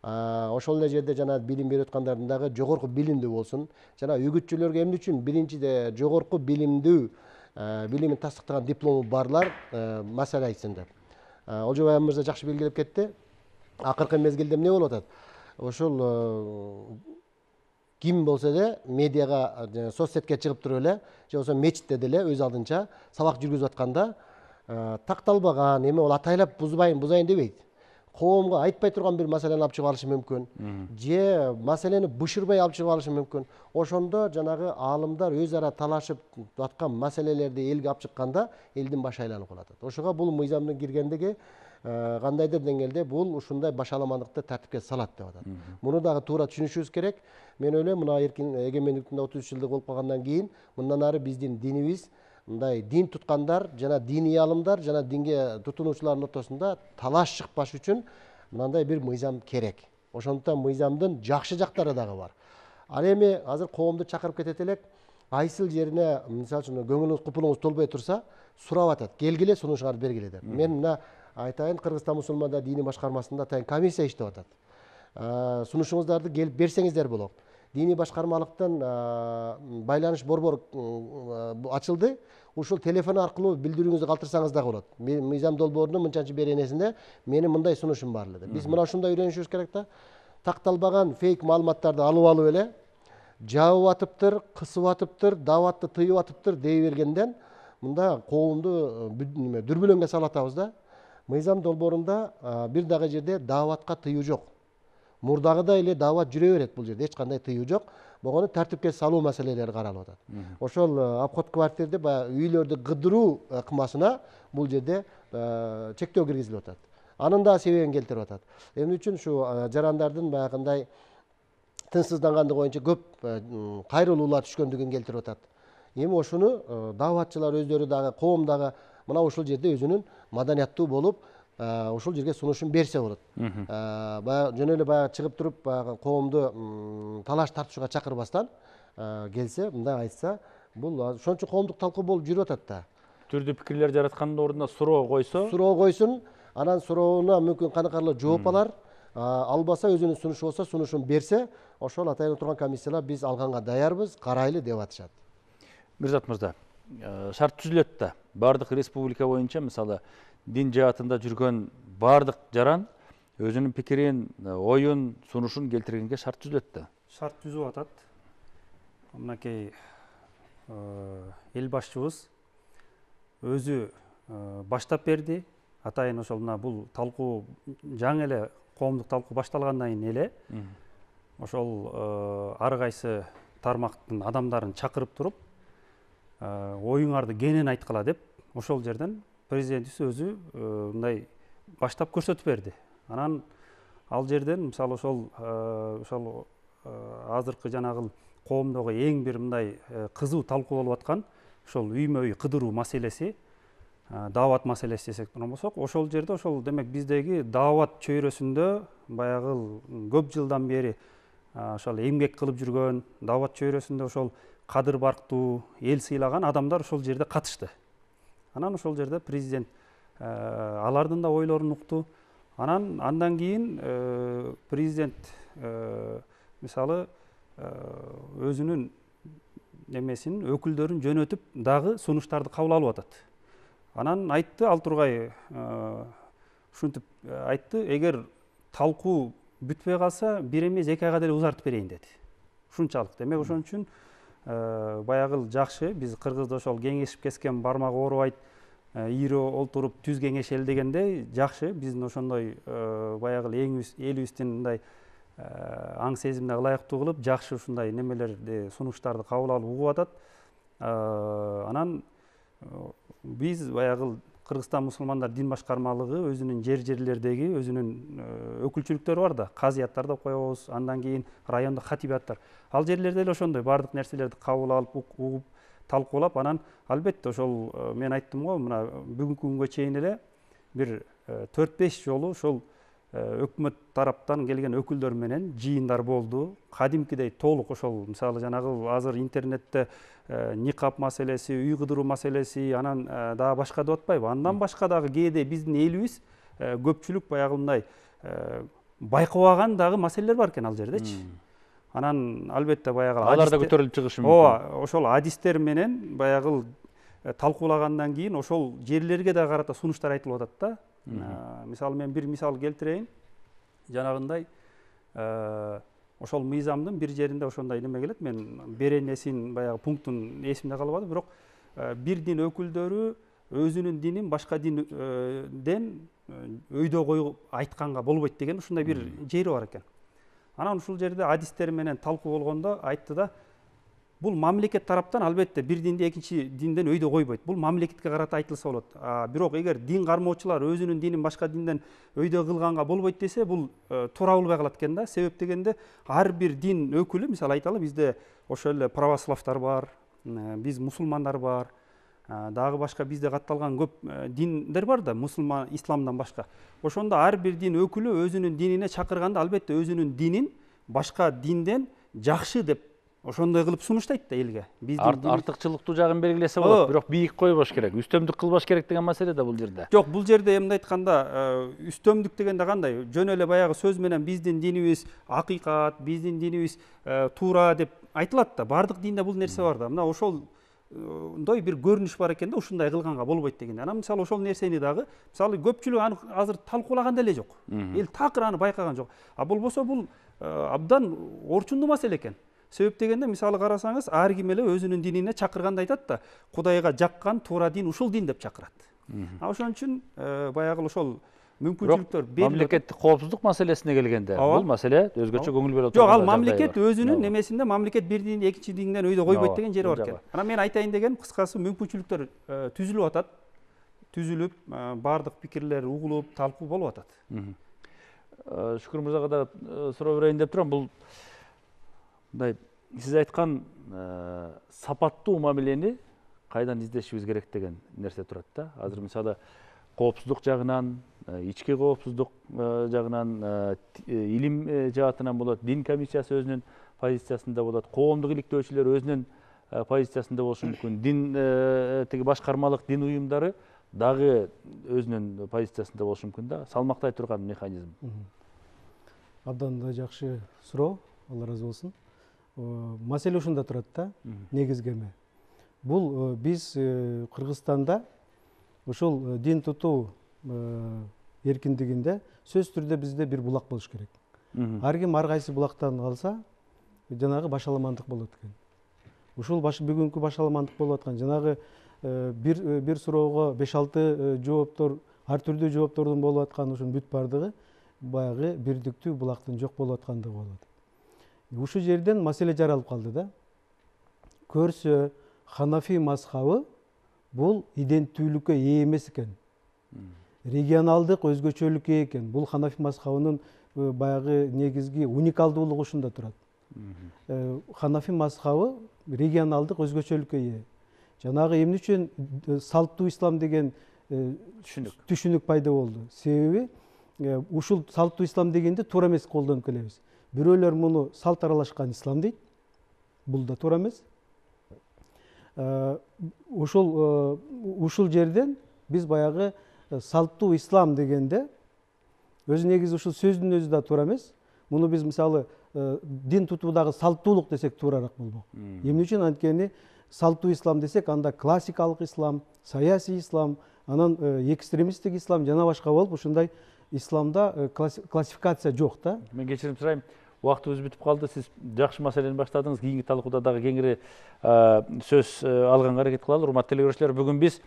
Ошол эле жерде жана билим берип аткандардын дагы жогорку билимдүү болсун. Жана үгүтчүлөргө эмне үчүн биринчиде жогорку билимдүү, билимин тастыктаган диплому барлар маселе айтсын деп. Олжобай мырза жакшы белгилеп кетти. Акыркы мезгилде эмне болуп атат? Ошол ким болсо эле медиага, соцсетке чыгып туруп эле, же болбосо мечитте деле өз алдынча сабак жүргүзүп атканда такталбаган, эми ол атайлап бузайын дебейт. Коомго айтпай турган бир маселени алып чыгып алышы мүмкүн. Же маселени бышырбай алып чыгып алышы мүмкүн. Ошондо жанагы аалымдар өз ара талашып аткан маселелерди элге алып чыкканда элдин башы айланып калат. Ошого бул мыйзамдын киргендиги кандайдыр деңгээлде бул ушундай башаламандыкты тартипке салат деп атат. Муну дагы туура түшүнүшүбүз керек. Мен ойлойм, мына эгемендиктин 33 жылдык болуп калгандан кийин мындан ары биздин динибиз мындай дин туткандар жана диний аалымдар жана динге тутунуучулардын ортосунда талаш чыкпаш үчүн мындай бир мыйзам керек. Ошондуктан мыйзамдын жакшы жактары дагы бар. Ал эми азыр коомду чакырып кетет элек, кайсыл жерине мисалы үчүн көңүлүңүз купулуңуз толбой турса, сурап атат. Келгиле, сунушуңарды бергиле деп. Мен мына айтайын, Кыргызстан мусулмандар диний башкармасында атайын комиссия иштеп атат. Сунушуңуздарды келип берсеңиздер болот. Диний башкармалыктын байланыш борбор ачылды. Ушул телефон аркылуу билдирүүңүздү калтырсаңыз дагы болот. Мыйзам долбоорунун мынчанчы беренесинде менин мындай сунушум бар эле деп. Биз мына ушундай үйрөнүшүбүз керек да. Такталбаган фейк маалыматтарды алып эле жабып атыптыр, кысып атыптыр, дааватты тыйып атыптыр дей бергенден мында коомду дүрбөлөңгө салып атабыз да. Мыйзам долбоорунда бир дагы жерде дааватка тыюу жок. Мурдагыдай эле даават жүрө берет бул жерде, эч кандай тыюу жок. Могону тартипке салуу маселелери каралып атат. Ошол обход квартирде баягы үйлөрдү кыдыруу ыкмасына бул жерде чектөө киргизилип атат. Анын да себебин келтирип атат. Эмне үчүн ушу жарандардын баягындай тынчсыздангандыгы боюнча көп кайрылуулар түшкөндүгүн келтирип атат. Эми ошону дааватчылар өздөрү дагы, коом дагы мына ушул жерде өзүнүн маданияттуу болуп, ушул жерге сунушун берсе болот. Баягы жөн эле баягы чыгып туруп, баягы коомду талаш тартышууга чакырбастан келсе, мындай айтса, бул ошончо коомдук талкуу болуп жүрүп атат да. Түрдүү пикирлер жараткандын ордуна суроо койсун, анан сурооуна мүмкүн каныкарлуу жооп алар. Албаса өзүнүн сунушу болсо, сунушун берсе, ошол атайын отурган комиссиялар биз алганга даярбыз, карайлы деп атышат. Мирзат мырза, шарт түзүлөт да. Бардык республика боюнча мисалы дин жаатында жүргөн бардык жаран өзүнүн пикирин, оюн, сунушун келтиргенге шарт түзүлөт да. Шарт түзүп атат. Мынакей эл башчыбыз өзү баштап берди. Атайын ошол мына бул талкуу жаңы эле коомдук талкуу башталгандан кийин эле ошол ар кайсы тармактын адамдарын чакырып туруп, оюңарды кенен айткыла деп ошол жерден президентибиз өзү мындай баштап көрсөтүп берди. Анан ал жерден мисалы ошол азыркы жанагы коомдогу эң бир мындай кызуу талкуу болуп аткан ошол үймө үй кыдыруу маселеси, даават маселеси десек болсок, ошол жерде ошол демек биздеги даават чөйрөсүндө баягы көп жылдан бери ошол эмгек кылып жүргөн, даават чөйрөсүндө ошол кадыр барктуу, эл сыйлаган адамдар ошол жерде катышты. Анан ошол жерде президент алардын да ойлорун укту. Андан кийин президент мисалы өзүнүн немесин, өкүлдөрүн жөнөтүп дагы сунуштарды кабыл алып атат. Анан айтты, ал тургай ушинтип айтты, эгер талкуу бүтпөй калса, бир эмес 2 айга деле узартып берейин деди. Ушунчалык. Демек ошон үчүн баягы жакшы, биз кыргызда ошол кеңешип кескен бармагы оорубайт, ийри олтуруп түз кеңешели дегендей жакшы, биздин ошондой баягы элибиздин мындай аң сезимине ылайыктуу кылып, жакшы ушундай немелерди, сунуштарды кабыл алып угуп атат. Анан биз баягы Кыргызстан мусулмандар дин башкармалыгы өзүнүн жерлердеги өзүнүн өкүлчүлүктөрү бар да, казыяттар деп коебуз, андан кийин райондук хатибияттар. Ал жерлерде эле ошондой бардык нерселерди кабыл алып, угуп, талкуулап, анан албетте ошол мен айттым го, мына бүгүнкү күнгө чейин эле бир 4-5 жолу ошол өкмөт тараптан келген өкүлдөр менен жыйындар болду. Кадимкидей толук ошол мисалы жанагы азыр интернетте никап маселеси, үй кыдыруу маселеси, анан дагы башка деп атпайбы? Андан башка дагы кээде биздин элибиз көпчүлүк баягындай байкабаган дагы маселелер бар экен ал жердечи. Анан албетте баягы алар да көтөрүлүп чыгышы мүмкүн. Ооба, ошол адистер менен баягы талкуулагандан кийин ошол жерлерге да карата сунуштар айтылып атат да. Мисалы мен бир мисал келтирейин. Жанагындай ошол мыйзамдын бир жеринде ошондой неме келет. Мен беренесин баягы пунктун эсимде калбады, бирок бир дин өкүлдөрү өзүнүн динин башка динден өйдө коюп айтканга болбойт деген ушундай бир жери бар экен. Анан ушул жерде адистер менен талкуу болгондо айтты да, бул мамлекет тараптан албетте бир динди экинчи динден өйдө койбойт. Бул мамлекетке карата айтылса болот. Бирок эгер дин кармоочулар өзүнүн динин башка динден өйдө кылганга болбойт десе, бул туура болбой калат экен да. Себеп дегенде ар бир дин өкүлү, мисалы айталы, бизде ошол эле православтар бар, биз мусулмандар бар, дагы башка бизде катталган көп диндер бар да, мусулман, исламдан башка. Ошондо ар бир дин өкүлү өзүнүн динине чакырганда албетте өзүнүн динин башка динден жакшы деп ошондой кылып сунуштайт да элге. Артыкчылыктуу жагын белгилесе болот, бирок бийик койбош керек, үстөмдүк кылбаш керек деген маселе да бул жерде. Жок, бул жерде эмне айтканда, үстөмдүк дегенде кандай? Жөн эле баягы сөз менен биздин динибиз акыйкат, биздин динибиз туура деп айтылат да. Бардык динде бул нерсе бар да. Мына ошолдой бир көрүнүш бар экен да, ушундай кылганга болбойт дегенде. Анан мисалы ошол нерсени дагы, мисалы көпчүлүк аны азыр талкуулаган деле жок. Эл такыр аны байкаган жок. Болбосо бул абдан орчундуу маселе экен. Себеп дегенде, мисалы карасаңыз, ар ким эле өзүнүн динине чакырганда айтат да, Кудайга жаккан туура дин ушул дин деп чакырат. Ошон үчүн баягы ошол мүмкүнчүлүктөр берилет. Мамлекеттик коопсуздук маселесине келгенде, бул маселе өзгөчө көңүл бөлө турган. Жок, ал мамлекет өзүнүн немесинде мамлекет бир динди экинчи динден өйдө койбойт деген жери бар экен. Анан мен айтайын деген кыскасы мүмкүнчүлүктөр түзүлүп атат. Түзүлүп, бардык пикирлер угулуп, талкуу болуп атат. Шүкүр мырзага да суроо берейин деп турам. Бул сиз айткан сапаттуу мамилени кайдан издешибиз керек деген нерсе турат да. Азыр мисалы коопсуздук жагынан, ички коопсуздук жагынан, илим жаатынан болот, дин комиссиясы өзүнүн позициясында болот, коомдук иликтөөчүлөр өзүнүн позициясында болушу мүмкүн. Дин тиги башкармалык дин уюмдары дагы өзүнүн позициясында болушу мүмкүн да. Салмактай турган механизм. Абдан да жакшы суроо, Алла ыраазы болсун. Маселе ушунда турат да, негизги эме. Бул биз Кыргызстанда ушул дин тутуу эркиндигинде сөзсүз түрдө бизде бир булак болуш керек. Ар ким ар кайсы булактан алса, жанагы башаламандык болот экен. Ушул бүгүнкү башаламандык болуп аткан жанагы бир суроого 5-6 жооптор, ар түрдүү жооптордун болуп аткан ушунун бүт бардыгы баягы бирдиктүү булактын жок болуп аткандыгы болот. Ушул жерден маселе жаралып калды да. Көрсө Ханафи мазхабы бул иденттүүлүккө ээ эмес экен. Регионалдык өзгөчөлүккө экен. Бул Ханафи мазхабынын баягы негизги уникалдуулугу ушунда турат. Ханафи мазхабы регионалдык өзгөчөлүккө ээ. Жанагы эмне үчүн салттуу ислам деген түшүнүк пайда болду? Себеби ушул салттуу ислам дегенде туура эмес колдонуп келебиз. Бирөөлөр муну салт аралашкан ислам дейт. Бул да туура эмес. Ушул жерден биз баягы салттуу ислам дегенде өзү негизи ушул сөздүн өзү да туура эмес. Муну биз мисалы дин тутуудагы салттуулук десек туураараак болмок. Эмне үчүн? Анткени салттуу ислам десек, анда классикалык ислам, саясий ислам, анан экстремисттик ислам жана башка болуп, ушундай исламда классификация жок да. Мен кечирим сурайм, убактыбыз бүтүп калды. Сиз жакшы маселени баштадыңыз. Кийинки талкууда дагы кеңири сөз алганга аракет кылалы. Урматтуу телекөрүүчүлөр, бүгүн биз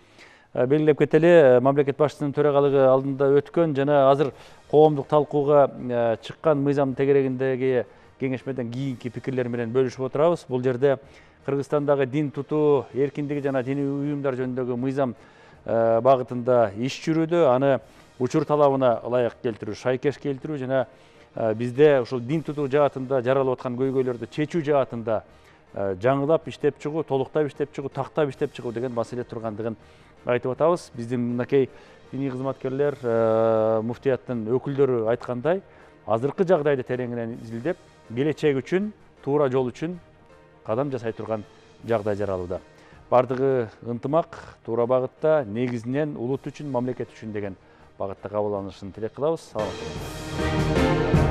белгилеп кетели, мамлекет башчысынын төрагалыгы алдында өткөн жана азыр коомдук талкууга чыккан мыйзам тегерегиндеги кеңешмеден кийинки пикирлер менен бөлүшүп отурабыз. Бул жерде Кыргызстандагы дин тутуу эркиндиги жана диний уюмдар жөнүндөгү мыйзам багытында иш жүрүүдө, аны учур талабына ылайык келтирүү, шайкеш келтирүү жана бизде ушул дин тутуу жаатында жаралып аткан көйгөйлөрдү чечүү жаатында жаңылап иштеп чыгуу, толуктап иштеп чыгуу, тактап иштеп чыгуу деген маселе тургандыгын айтып атабыз. Биздин мынакей диний кызматкерлер, муфтияттын өкүлдөрү айткандай, азыркы жагдайды тереңинен изилдеп, келечек үчүн, туура жол үчүн кадам жасай турган жагдай жаралууда. Бардыгы ынтымак, туура багытта, негизинен улут үчүн, мамлекет үчүн деген багытта кабыл алынышын тилек кылабыз. Саламат болуңуздар.